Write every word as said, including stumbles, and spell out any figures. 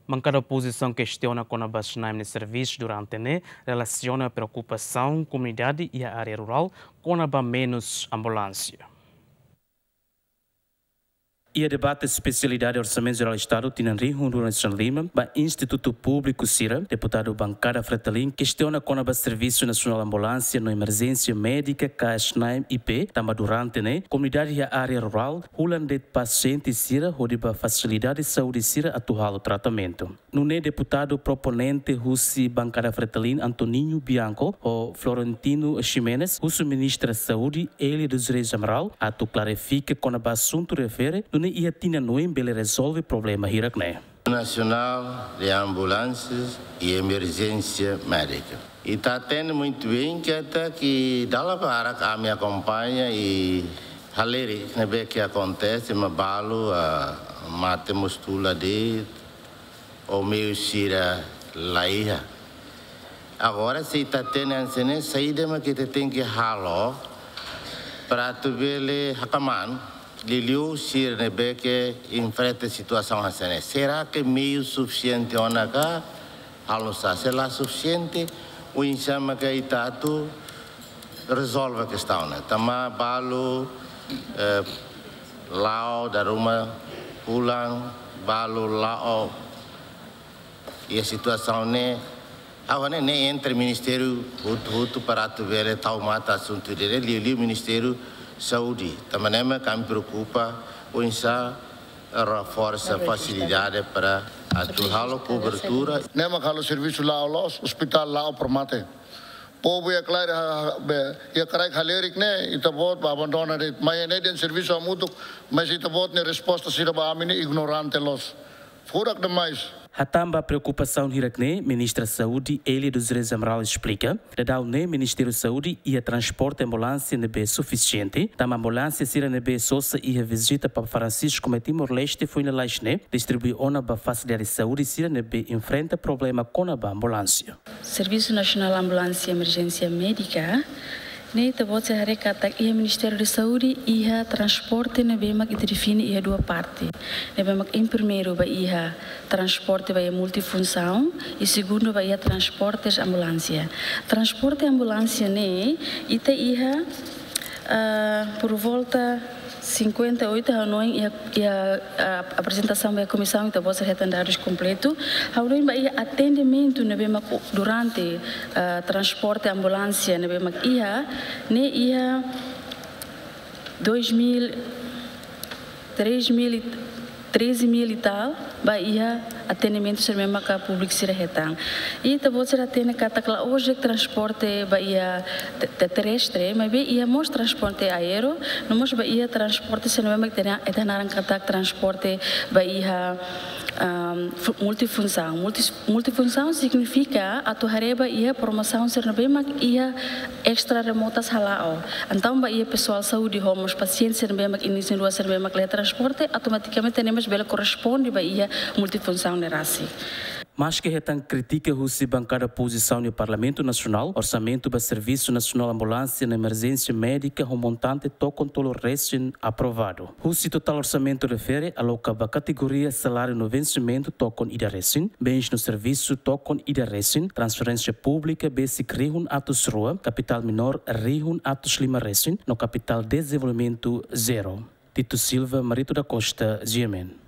Bankada opozisaun kestiona kona-ba SNAEM nia servisu durante ne'e relasiona preokupasaun komunidade iha área rurál kona-ba menus ambulánsia. Iha debate espesialidade Orsamentu Jerál Estadu tinan rihun rua ruanulu-resin-lima ba institutu públiku sira, deputadu bankada Fretilin kestiona kona-ba Servisu Nasionál Ambulánsia no Emerjénsia Médika ka SNAEM I P, tanba durante ne'e komunidade iha área rurál hola de'it pasiente sira hodi ba fasilidade saúde sira atu halo tratamentu. Nune'e deputadu proponente husi bankada Fretilin, Antoninho Bianco, ho Florentino Ximenes, husu Ministra Saúde, Elia dos Reis Amaral, atu klarifika kona-ba asuntu refere, nune'e iha tinan oin bele rezolve problema hirak ne'e. Nacional de Ambulâncias e Emergência Médica. Ita hatene muito bem katak dala barak ami akompaña i halerik ne'ebé ke akontese, ema balu, ah, mate mós tula de'it, ou meiu sira la iha. Agora, se ita hatene hanesan ne'e, saida mak ita tenke halo para atu bele hakmaan liuliu sira ne'ebé ke enfrenta situasaun hanesan ne'e? Será ke meiu sufisiente ona ka? Halo nu'usá? Se la sufisiente, oinsá mak ita atu rezolve kestaun ne'e? Tanba balu, eh, la'o dala ruma, fulan balu la'o. Iha situasaun ne'e, ha'u hanoin ne'e entre ministériu hotu-hotu para atu bele tau matan asuntu ida-ne'e, liuliu Ministériu Saúde. Tanba ne'e mak ami preokupa oinsá reforsa fasilidade para atu halo kobertura. Ne'e mak halo servisu la'o loos, ospitál la'o para mate. Povu iha klaran, ha, ha, be, iha kraik halerik ne'e, ita-boot ba abandona de'it. Mai ne'e dehan servisu hamutuk, mas ita-boot nia resposta sira ba ami ne'e ignorante loos. Furak demais. Hatán ba preokupasaun hirak ne'e, Ministra Saúde, Elia dos Reis Amaral esplika, daudaun ne'e Ministériu Saúde iha transporte ambulánsia ne'ebé sufisiente, tanba ambulánsia sira ne'ebé sosa iha vizita ba Francisco mai Timor-Leste foin lalais ne'e, distribui ona ba fasilidade saúde sira ne'ebé enfrenta problema kona-ba ambulánsia. Servisu Nasionál Ambulánsia Emerjénsia Médika ne'e, ita-boot sei haree katak iha Ministériu Saúde iha transporte ne'ebé mak ita define iha dua parte. Ne'ebé mak, em primeiru, ba iha transporte ba iha multifunsaun, i segundu ba iha transportes ambulánsia. Transporte ambulánsia ne'e, ita iha, ah, por volta cinquenta e oito, ha'u hanoin iha, iha, ah, aprezentasaun ba iha komisaun, ita-boot sei hetan dadus kompletu. Ha'u hanoin ba iha atendimentu ne'ebé mak durante, ah, transporte ambulánsia ne'ebé mak iha, ne'e iha dois mil, três mil e, treze mil e tal, ba iha atendimentu sira ne'ebé maka públiku sira hetan. I ita-boot sira hatene katak la'ós de'it transporte ba iha te-, te-, terrestre, maibé iha mós transporte aéreo, no mós ba iha transporte sira ne'ebé mak ita hanaran katak transporte ba iha, ahm, fu-, multifunsaun. Multis-, multifunsaun signifika atu haree ba iha promosaun sira ne'ebé mak iha extra remotas hala'o. Entaun ba iha pesoál saúde ho mós pasiente sira ne'ebé mak iha nisin rua sira ne'ebé mak la iha transporte, automatikamente ne'e mós bele korresponde ba iha multifunsaun ne'e rasik. Maske hetan krítika husi bankada opozisaun iha Parlamentu Nasionál, orsamentu ba Servisu Nasionál Ambulánsia no Emerjénsia Médika ho montante tokon tolu resin aprovadu. Husi totál orsamentu refere, aloka ba kategoria saláriu no vensimentu tokon ida resin, bens no servisu tokon ida resin, transferénsia públika besik rihun atus rua, kapitál menór rihun atus lima resin, no kapitál dezenvolvimentu zero. Tito Silva, Marito da Costa, G M N.